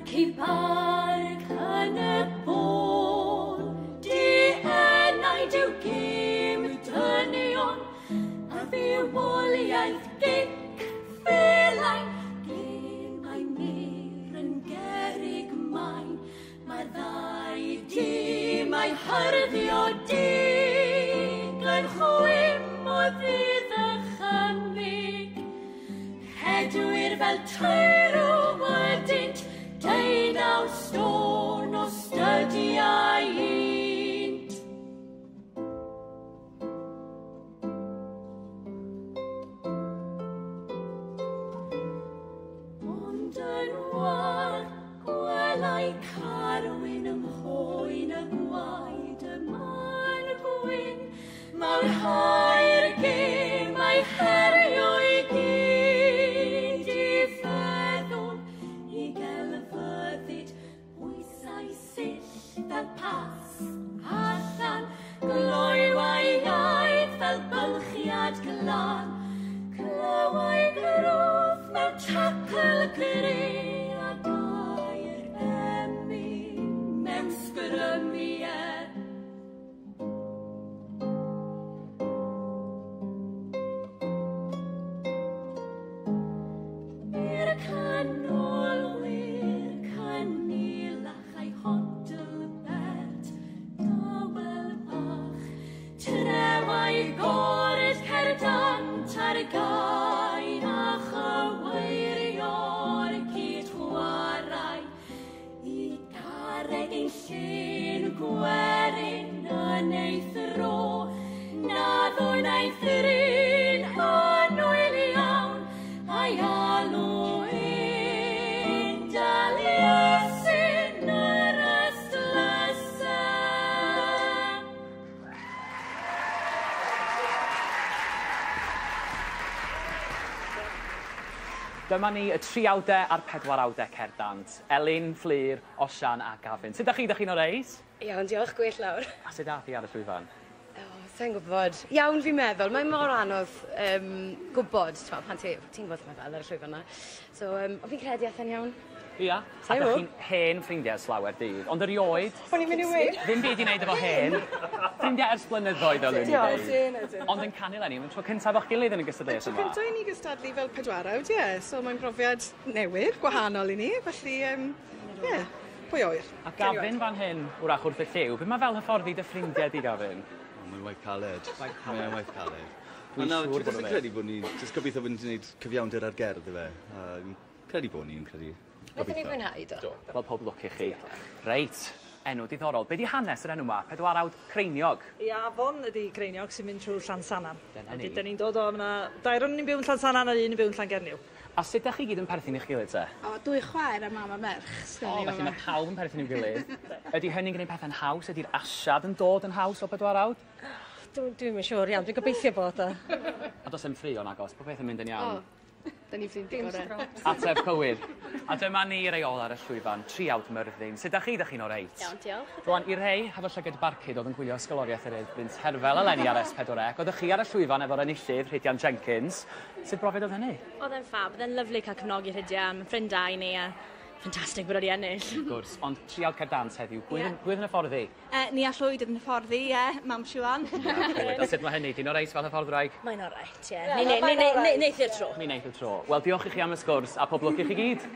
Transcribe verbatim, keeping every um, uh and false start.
Ci barc yn y bôn, dienaid yw gêm dynion, a fywoliaeth gic felain, gemau mur yn gerrig main, mae'r ddau dîmau hyrddio dig yn chwim o ddydd ychymig. Hedwyr fel teirw ydynt, deunaw stôn o stydiau unt. Ond yn war, gwelai Carwyn ym mhoen y gwaed y man gwyn, mawrhau'r gemau herio i gyd i feddwl i gelfyddyd bwysau sill fel pas allan, gloywau iaith fel bylchiad glân, clywai grwth mewn tacl gry a gair emyn mewn sgrymiau. I'r canolwyr cynilach a'i hodl bert dawel bach, trewai gordd cerdant ar gain a chyweirio'r cyd-chwarae, i garreg ein llun gwerin yn ei thro, na ddwynaeth yr un annwyl iawn, a'i alw un Daliesin yr ystlysau. Dyma ni y triawdau a'r pedwarawdau cerddant. Elin, Fflur, Osian a Gavin. Sut dach chi? Dach chi'n oreit? Iawn, diolch, gwell lawr. A sut ath hi ar y llwyfan? O, sa i'n gwybod. Iawn fi'n meddwl, mae mor anodd um, gwybod, t'mo, pan ti, ti'n gwybod mae fel ar y llwyfan 'na. So, um, ond fi'n credu ath e'n iawn. Ia. A Sa'n dach gwbo. chi'n hen ffrindiau ers lawer dydd, ond erioed... O'n i'n mynd i weud. Ddim byd i wneud efo hen. Ffrindiau ers blynyddoedd oedden ni'n Diolch, deud. ydyn, ydyn. Ond yn canu eleni, mae'n tro cyntaf o'ch gilydd yn y gystadleuaeth Tro yma. cyntaf i ni gystadlu fel pedwarawd, ie. So mae'n brofiad newydd, gwahanol i ni, felly, um, ie, pwy oer. A Gavin fan hyn, wrach wrth y llyw, be mae fel hyfforddi dy ffrindiau di, Gavin? O, mae'n waith caled. Waith caled. Mae'n waith caled. Dwi'n Ond na, siŵr dwi bod jyst o'n yn credu bod ni, jyst gobeithio bod ni'n gwneud cyfiawnder ar gerdd, ife. A fi'n credu bod ni'n credu. Wnaethon ni fwynhau, do. Wel, pob lwc i chi. Reit, enw diddorol. Be di hanes yr enw yma? Pedwarawd Creiniog. I afon ydi Creiniog sy'n mynd trwy Llansannan. Dyna ni. Wedyn, 'dan ni'n dod o, ma' dair o'n ni'n byw yn Llansannan a un yn byw yn Llangernyw. A sut dach chi gyd yn perthyn i'ch gilydd te? O, dwy chwaer a mam a merch. O, felly mae pawb yn perthyn i'w gilydd. Ydy hynny'n gwneud pethau'n haws? Ydy'r asiad yn dod yn haws o pedwarawd? Dwi'n dwi'm yn siŵr iawn, dwi'n gobeithio bod o. A does 'im ffrio nagos, pob peth yn mynd yn iawn. O, da ni'n ffrindiau gorau. Ateb cywir. A dyma ni rei ôl ar y llwyfan, triawd Myrddin. Sut dach chi? Dach chi'n oreit? Iawn, diolch. Rwan, i rhei hefo llygad barcud oedd yn gwylio ysgoloriaeth yr Urdd Bryn Terfel eleni ar S pedwar C, oeddech chi ar y llwyfan efo'r enillydd, Rhydian Jenkins. Sut brofiad oedd hynny? Oedd e'n ffab, oedd e'n lyfli cael cefnogi Rhydian, mae'n ffrind da i ni a ffantastig bod wedi ennill. Wrth gwrs, ond triawd cerdd dant heddiw, pwy Ie. yeah. pwy oedd yn hyfforddi? Uh, Nia Llwyd oedd yn hyfforddi, ie, mam Siwan. A sut mae hynny? Di'n oreit fel hyfforddwraig? Mae'n oreit, ie. Ni neith i'r tro. Mi wneith y tro. Wel, diolch i chi am y sgwrs a pob lwc i chi gyd.